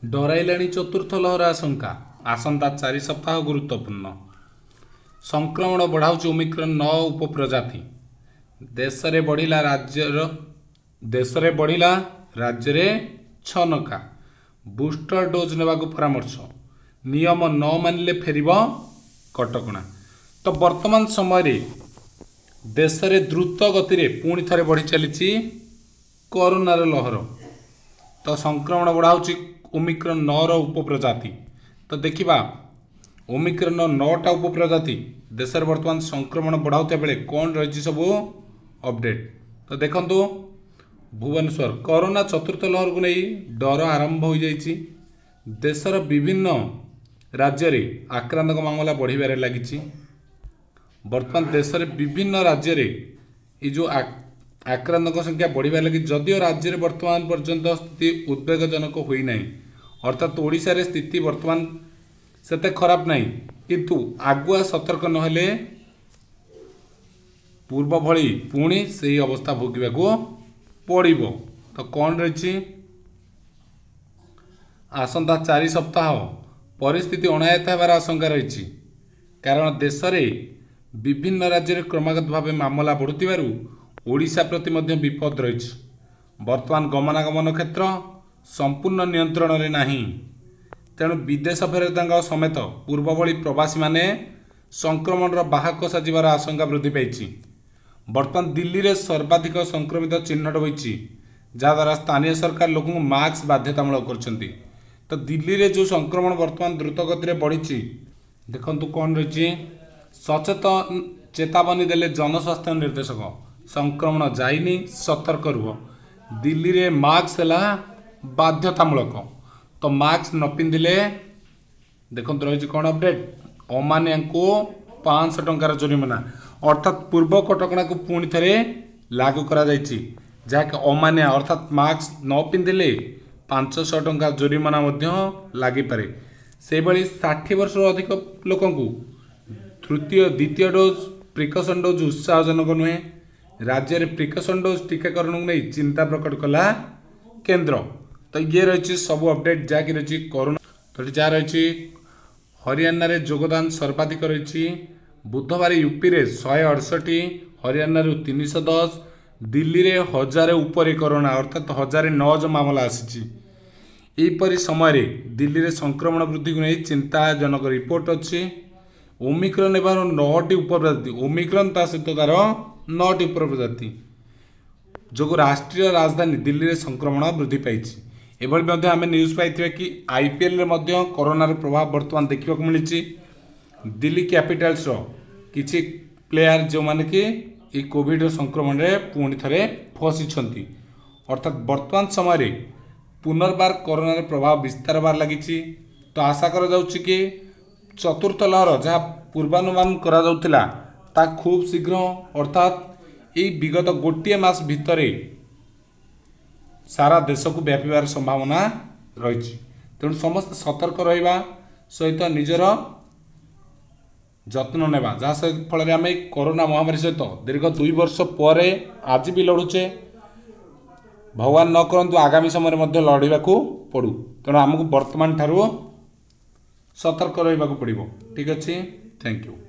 ଡରାଇଲାଣି ଚତୁର୍ଥ ଲହର ଆଶଙ୍କା। ଆସନ୍ତା 4 ସପ୍ତାହ ଗୁରୁତ୍ୱପୂର୍ଣ୍ଣ। ସଂକ୍ରମଣ ବଢ଼ାଉଛି ଓମିକ୍ରନ୍ 9 ଉପପ୍ରଜାତି। ଦେଶରେ ବଢ଼ିଲା ରାଜ୍ୟର ଦେଶରେ ବଢ଼ିଲା ରାଜ୍ୟରେ ଛନକା। ବୁଷ୍ଟର ଡୋଜ୍ ନେବାକୁ ପରାମର୍ଶ। ନିୟମ ନ ମାନିଲେ ଫେରିବ କଟକଣା। ତ ବର୍ତ୍ତମାନ ସମୟରେ ଦେଶରେ ଦ୍ରୁତ ଗତିରେ ପୁଣି ଥରେ ବଢ଼ି ଚାଲିଛି କରୋନାର ଲହର। ତ ସଂକ୍ରମଣ ବଢ଼ାଉଛି ଓମିକ୍ରନ୍ 9ର ଉପପ୍ରଜାତି। ତ ଦେଖିବା ଓମିକ୍ରନ୍ର 9ଟା ଉପପ୍ରଜାତି ଦେଶରେ ବର୍ତ୍ତମାନ ସଂକ୍ରମଣ ବଢ଼ାଉଥିବା ବେଳେ କ'ଣ ରହିଛି ସବୁ ଅପଡେଟ୍। ତ ଦେଖନ୍ତୁ, ଭୁବନେଶ୍ୱର କରୋନା ଚତୁର୍ଥ ଲହରକୁ ନେଇ ଡର ଆରମ୍ଭ ହୋଇଯାଇଛି। ଦେଶର ବିଭିନ୍ନ ରାଜ୍ୟରେ ଆକ୍ରାନ୍ତଙ୍କ ମାମଲା ବଢ଼ିବାରେ ଲାଗିଛି। ବର୍ତ୍ତମାନ ଦେଶରେ ବିଭିନ୍ନ ରାଜ୍ୟରେ ଏଇ ଯେଉଁ ଆକ୍ରାନ୍ତଙ୍କ ସଂଖ୍ୟା ବଢ଼ିବାରେ ଲାଗିଛି, ଯଦିଓ ରାଜ୍ୟରେ ବର୍ତ୍ତମାନ ପର୍ଯ୍ୟନ୍ତ ସ୍ଥିତି ଉଦ୍ବେଗଜନକ ହୋଇନାହିଁ, ଅର୍ଥାତ୍ ଓଡ଼ିଶାରେ ସ୍ଥିତି ବର୍ତ୍ତମାନ ସେତେ ଖରାପ ନାହିଁ, କିନ୍ତୁ ଆଗୁଆ ସତର୍କ ନହେଲେ ପୂର୍ବ ଭଳି ପୁଣି ସେଇ ଅବସ୍ଥା ଭୋଗିବାକୁ ପଡ଼ିବ। ତ କ'ଣ ରହିଛି? ଆସନ୍ତା 4 ସପ୍ତାହ ପରିସ୍ଥିତି ଅଣାୟତ୍ତ ହେବାର ଆଶଙ୍କା ରହିଛି, କାରଣ ଦେଶରେ ବିଭିନ୍ନ ରାଜ୍ୟରେ କ୍ରମାଗତ ଭାବେ ମାମଲା ବଢ଼ୁଥିବାରୁ ଓଡ଼ିଶା ପ୍ରତି ମଧ୍ୟ ବିପଦ ରହିଛି। ବର୍ତ୍ତମାନ ଗମନାଗମନ କ୍ଷେତ୍ର ସମ୍ପୂର୍ଣ୍ଣ ନିୟନ୍ତ୍ରଣରେ ନାହିଁ। ତେଣୁ ବିଦେଶ ଫେରନ୍ତାଙ୍କ ସମେତ ପୂର୍ବ ଭଳି ପ୍ରବାସୀମାନେ ସଂକ୍ରମଣର ବାହକ ସାଜିବାର ଆଶଙ୍କା ବୃଦ୍ଧି ପାଇଛି। ବର୍ତ୍ତମାନ ଦିଲ୍ଲୀରେ ସର୍ବାଧିକ ସଂକ୍ରମିତ ଚିହ୍ନଟ ହୋଇଛି, ଯାହାଦ୍ୱାରା ସ୍ଥାନୀୟ ସରକାର ଲୋକଙ୍କୁ ମାସ୍କ ବାଧ୍ୟତାମୂଳକ କରିଛନ୍ତି। ତ ଦିଲ୍ଲୀରେ ଯେଉଁ ସଂକ୍ରମଣ ବର୍ତ୍ତମାନ ଦ୍ରୁତ ଗତିରେ ବଢ଼ିଛି, ଦେଖନ୍ତୁ କ'ଣ ରହିଛି। ସଚେତନ ଚେତାବନୀ ଦେଲେ ଜନସ୍ୱାସ୍ଥ୍ୟ ନିର୍ଦ୍ଦେଶକ, ସଂକ୍ରମଣ ଯାଇନି, ସତର୍କ ରୁହ। ଦିଲ୍ଲୀରେ ମାସ୍କ ହେଲା ବାଧ୍ୟତାମୂଳକ। ତ ମାସ୍କ ନ ପିନ୍ଧିଲେ, ଦେଖନ୍ତୁ ରହିଛି କ'ଣ ଅପଡେଟ୍, ଅମାନିଆଙ୍କୁ 500 ଟଙ୍କାର ଜୋରିମାନା। ଅର୍ଥାତ୍ ପୂର୍ବ କଟକଣାକୁ ପୁଣି ଥରେ ଲାଗୁ କରାଯାଇଛି, ଯାହାକି ଅମାନିଆ ଅର୍ଥାତ୍ ମାସ୍କ ନ ପିନ୍ଧିଲେ 500 ଟଙ୍କା ଜୋରିମାନା ମଧ୍ୟ ଲାଗିପାରେ। ସେହିଭଳି 60 ବର୍ଷରୁ ଅଧିକ ଲୋକଙ୍କୁ ତୃତୀୟ ଦ୍ୱିତୀୟ ଡୋଜ୍ ପ୍ରିକସନ୍ ଡୋଜ୍ ଉତ୍ସାହଜନକ ନୁହେଁ। ରାଜ୍ୟରେ ପ୍ରିକସନ୍ ଡୋଜ୍ ଟିକାକରଣକୁ ନେଇ ଚିନ୍ତା ପ୍ରକଟ କଲା କେନ୍ଦ୍ର। ତ ଇଏ ରହିଛି ସବୁ ଅପଡେଟ୍ ଯାହାକି ରହିଛି କରୋନା। ତ ଏଠି ଯାହା ରହିଛି, ହରିୟାଣାରେ ଯୋଗଦାନ ସର୍ବାଧିକ ରହିଛି। ବୁଧବାର ୟୁପିରେ 168, ହରିୟାଣାରୁ 310, ଦିଲ୍ଲୀରେ 1000 ଉପରେ କରୋନା, ଅର୍ଥାତ୍ 1009 ମାମଲା ଆସିଛି। ଏହିପରି ସମୟରେ ଦିଲ୍ଲୀରେ ସଂକ୍ରମଣ ବୃଦ୍ଧିକୁ ନେଇ ଚିନ୍ତାଜନକ ରିପୋର୍ଟ ଅଛି। ଓମିକ୍ରନ୍ ହେବାର 9ଟି ଉପପ୍ରଜାତି, ଓମିକ୍ରନ୍ ତା ସହିତ ତାର 9ଟି ଉପପ୍ରଜାତି ଯୋଗୁଁ ରାଷ୍ଟ୍ରୀୟ ରାଜଧାନୀ ଦିଲ୍ଲୀରେ ସଂକ୍ରମଣ ବୃଦ୍ଧି ପାଇଛି। ଏଭଳି ମଧ୍ୟ ଆମେ ନ୍ୟୁଜ୍ ପାଇଥିବା କି ଆଇପିଏଲ୍ରେ ମଧ୍ୟ କରୋନାର ପ୍ରଭାବ ବର୍ତ୍ତମାନ ଦେଖିବାକୁ ମିଳିଛି। ଦିଲ୍ଲୀ କ୍ୟାପିଟାଲ୍ସର କିଛି ପ୍ଲେୟାର ଯେଉଁମାନେ କି ଏଇ କୋଭିଡ଼ର ସଂକ୍ରମଣରେ ପୁଣି ଥରେ ଫସିଛନ୍ତି। ଅର୍ଥାତ୍ ବର୍ତ୍ତମାନ ସମୟରେ ପୁନର୍ବାର କରୋନାର ପ୍ରଭାବ ବିସ୍ତାର ହେବାରେ ଲାଗିଛି। ତ ଆଶା କରାଯାଉଛି କି ଚତୁର୍ଥ ଲହର ଯାହା ପୂର୍ବାନୁମାନ କରାଯାଉଥିଲା ତା ଖୁବ୍ ଶୀଘ୍ର, ଅର୍ଥାତ୍ ଏଇ ବିଗତ ଗୋଟିଏ ମାସ ଭିତରେ ସାରା ଦେଶକୁ ବ୍ୟାପିବାର ସମ୍ଭାବନା ରହିଛି। ତେଣୁ ସମସ୍ତେ ସତର୍କ ରହିବା ସହିତ ନିଜର ଯତ୍ନ ନେବା, ଯାହା ଫଳରେ ଆମେ କରୋନା ମହାମାରୀ ସହିତ ଦୀର୍ଘ 2 ବର୍ଷ ପରେ ଆଜି ବି ଲଢ଼ୁଛେ, ଭଗବାନ ନ କରନ୍ତୁ ଆଗାମୀ ସମୟରେ ମଧ୍ୟ ଲଢ଼ିବାକୁ ପଡ଼ୁ। ତେଣୁ ଆମକୁ ବର୍ତ୍ତମାନ ଠାରୁ ସତର୍କ ରହିବାକୁ ପଡ଼ିବ। ଠିକ୍ ଅଛି, thank you.